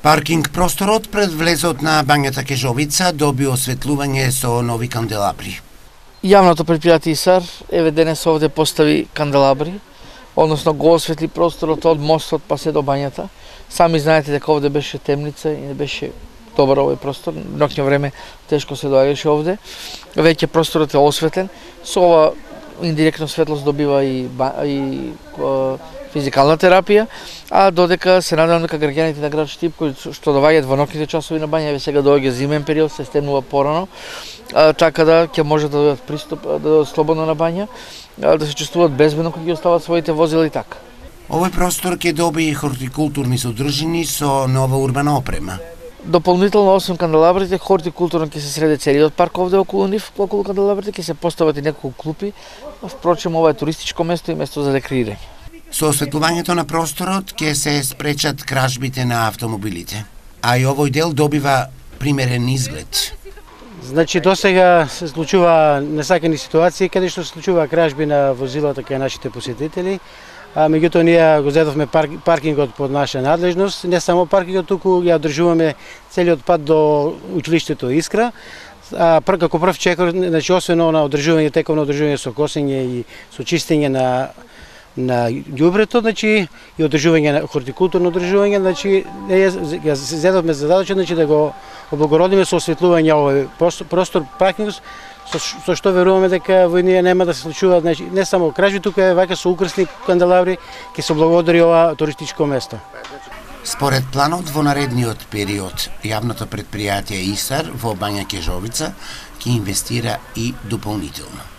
Паркинг просторот пред влезот на Бањата Кежовица доби осветлување со нови канделабри. Јавното предпријатие ИСАР еве денес овде постави канделабри, односно го осветли просторот од мостот па се до бањата. Сами знаете дека овде беше темница и не беше добар овој простор. Ноќно време тешко се доаѓаше овде. Веќе просторот е осветлен. Со ова индиректно светлост добива и физикална терапија, а додека се надевам дека граѓаните на град Штип кои што доаѓаат во ноќните часови на бања, еве сега доаѓа зимен период, се стемнува порано, така да ќе може да добијат пристап да додат слободно на бања, да се чувствуваат безбедно кога ги остават своите возила и така. Овој простор ќе доби и хортикултурни содржини со нова урбана опрема. Дополнително освен канделабрите, хортикултурно ќе се среди целиот парк овде околу нив, околу канделабрите ќе се постават и неколку клупи. Впрочем, ова е туристичко место и место за рекреирање. Со осветлувањето на просторот ќе се спречат кражбите на автомобилите, а и овој дел добива примерен изглед. Значи, досега се случува несакани ситуации каде што се случува кражби на возилата кај нашите посетители. Меѓутоа ние го зедовме паркингот под наша надлежност, не само паркингот, туку ја одржуваме целиот пат до училиштето Искра. Како прв чекор, значи освен на одржување, тековно одржување со косење и со чистење на ѓубрето, значи и одржување на хортикултурно одржување, значи ја зедовме задача, значи да го облагородиме со осветлување овој простор паркингот, со што веруваме дека во ние нема да се случува, значи не само кражби, туку е вака со украсни канделабри ќе се облагодари ова туристичко место. Според планот во наредниот период, јавното предпријатие ИСАР во Бања Кежовица ќе инвестира и дополнително.